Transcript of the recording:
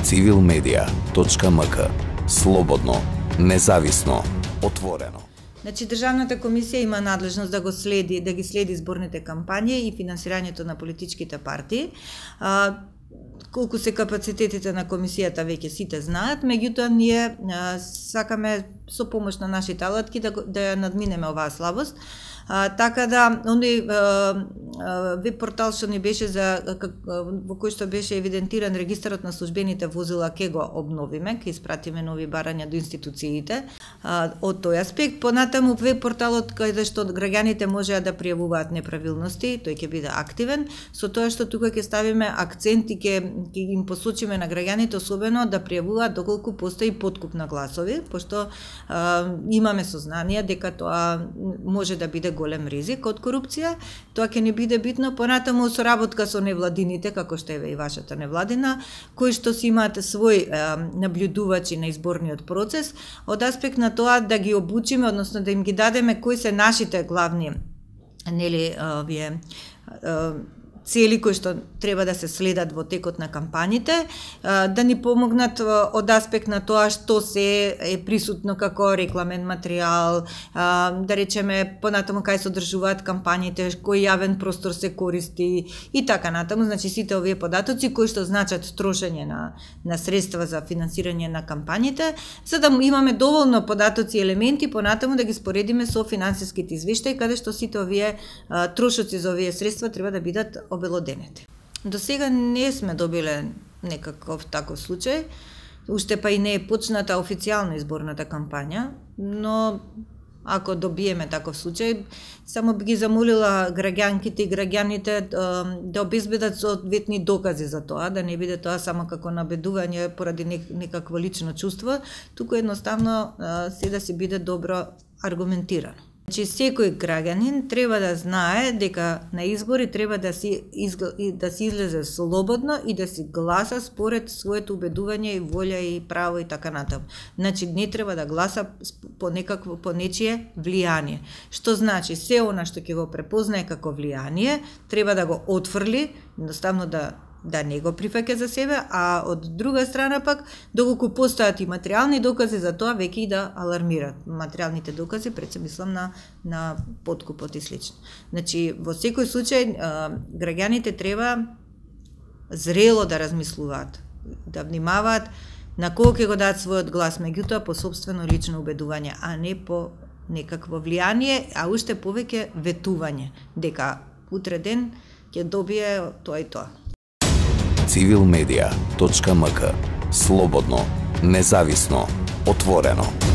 civilmedia.mk. Слободно, независно, отворено. Значи, Државната комисија има надлежност да ги следи изборните кампањи и финансирањето на политичките партии. Колку се капацитетите на комисијата веќе сите знаат, меѓутоа ние сакаме со помош на нашите алатки да ја надминеме оваа слабост. Така да, оној веб портал што ни беше во кој што беше евидентиран регистарот на службените возила, ке го обновиме, ке испратиме нови барања до институциите од тој аспект. Понатаму веб порталот каде што граѓаните можеа да пријавуваат неправилности, тој ќе биде активен, со тоа што тука ќе ставиме акцент и ќе им посочиме на граѓаните особено да пријавуваат доколку постои подкуп на гласови, пошто имаме сознание дека тоа може да биде голем ризик од корупција. Тоа ќе ни биде битно понатаму соработка со невладините, како што е и вашата невладина, кои што си имаат свој наблюдувачи на изборниот процес, од аспект на тоа да ги обучиме, односно да им ги дадеме кои се нашите главни цели кои што треба да се следат во текот на кампањите, да ни помогнат од аспект на тоа што се е присутно како рекламен материјал, да речеме понатаму кај се одржуваат кампањите, кој јавен простор се користи и така натаму. Значи сите овие податоци кои што значат трошење на средства за финансирање на кампањите, за да имаме доволно податоци и елементи понатаму да ги споредиме со финансиските извештаи каде што сите овие трошоци за овие средства треба да бидат обелоденете. До сега не сме добиле некаков таков случај, уште па и не е почната официјално изборната кампања, но ако добиеме таков случај, само би ги замолила граѓанките и граѓаните да обезбедат соодветни докази за тоа, да не биде тоа само како набедување поради некакво лично чувство, туку едноставно се да се биде добро аргументирано. Значи, секој граѓанин треба да знае дека на избори треба да се излезе слободно и да си гласа според своето убедување и волја и право и така натаму. Значи, не треба да гласа по нечие влијание. Што значи, се она што ќе го препознае како влијание, треба да го отфрли, едноставно да не го прифаќа за себе, а од друга страна пак, доколку постојат и материјални докази за тоа, веќе и да алармират. Материјалните докази, пред се мислам на подкупот и слично. Значи, во секој случај, граѓаните треба зрело да размислуваат, да внимаваат на кого ќе го дадат својот глас, меѓутоа по собствено лично убедување, а не по некакво влијание, а уште повеќе ветување, дека утре ден ќе добие тоа и тоа. civilmedia.mk. Слободно, независно, отворено.